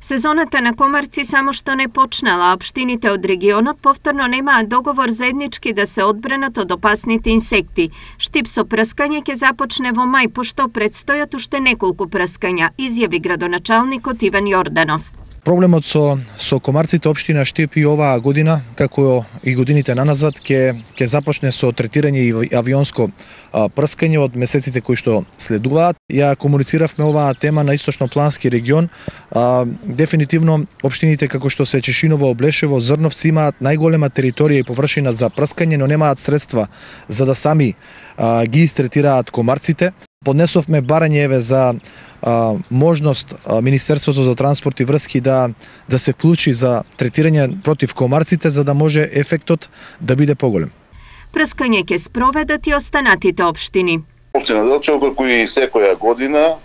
Сезоната на комарци само што не почнала, а општините од регионот повторно немаат договор заеднички да се одбранат од опасните инсекти. Штип со прскање ќе започне во мај, пошто предстојат уште неколку прскања, изјави градоначалникот Иван Јорданов. Проблемот со комарците општина Штип и оваа година, како и годините наназад, ќе започне со третирање и авионско прскање од месеците кои што следуваат. Ја комунициравме оваа тема на Источноплански регион. Дефинитивно општините како што се Чешиново, Облешево, Зрновци имаат најголема територија и површина за прскање, но немаат средства за да сами ги истретираат комарците. Поднесовме барање за можност Министерството за транспорт и врски да се вклучи за третирање против комарците, за да може ефектот да биде поголем. Прскање ќе спроведат и останатите општини. Општина Делчево, како и секоја година,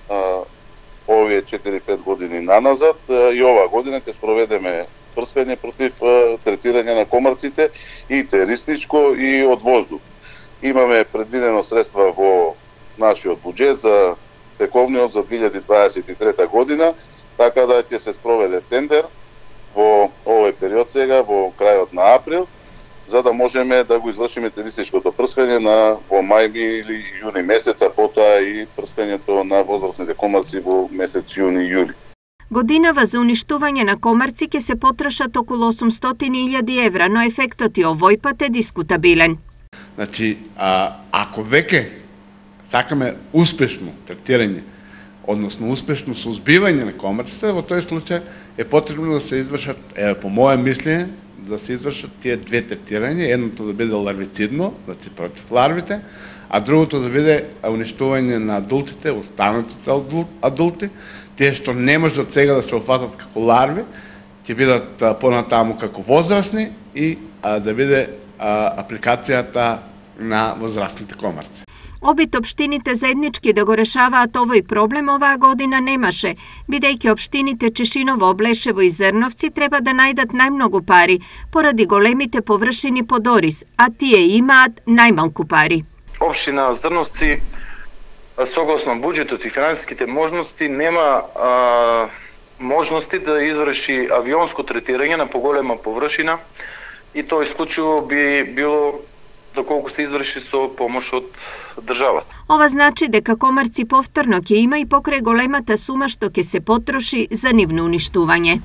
овие 4-5 години наназад, и оваа година ќе спроведеме прскање против третирање на комарците и терористичко и од воздух. Имаме предвидено средства во нашиот буџет за тековниот за 2023 година, така да ќе се спроведе тендер во овој период сега, во крајот на април, за да можеме да го извршиме терористичкото прскање во мај или јуни месец, а потоа и прскањето на возрастните комарци во месец јуни-јули. Годинава за уништување на комарци ќе се потрошат околу 800.000 евра, но ефектот и овој пат е дискутабилен. Значи, ако веќе сакаме успешно третирање, односно успешно соузбивање на комарците, во тој случај е потребно да се извршат, по моје мислење, да се извршат тие две третирања, едното да биде ларвицидно, значи против ларвите, а другото да биде уништување на адултите, останатите адулти, тие што не можат сега да се опфатат како ларви, ќе бидат понатаму како возрастни и да биде апликацијата на возрастните комарци. Обид општините заеднички да го решаваат овој проблем оваа година немаше, бидејќи општините Чешиново, Облешево и Зрновци треба да најдат најмногу пари поради големите површини под ориз, а тие имаат најмалку пари. Општина Зрновци, согласно буџетот и финансиските можности, нема можности да изврши авионско третирање на поголема површина и тоа исклучиво би било доколку се изврши со помош од државата. Ова значи дека комарци повторно ќе има и покрај големата сума што ќе се потроши за нивно уништување.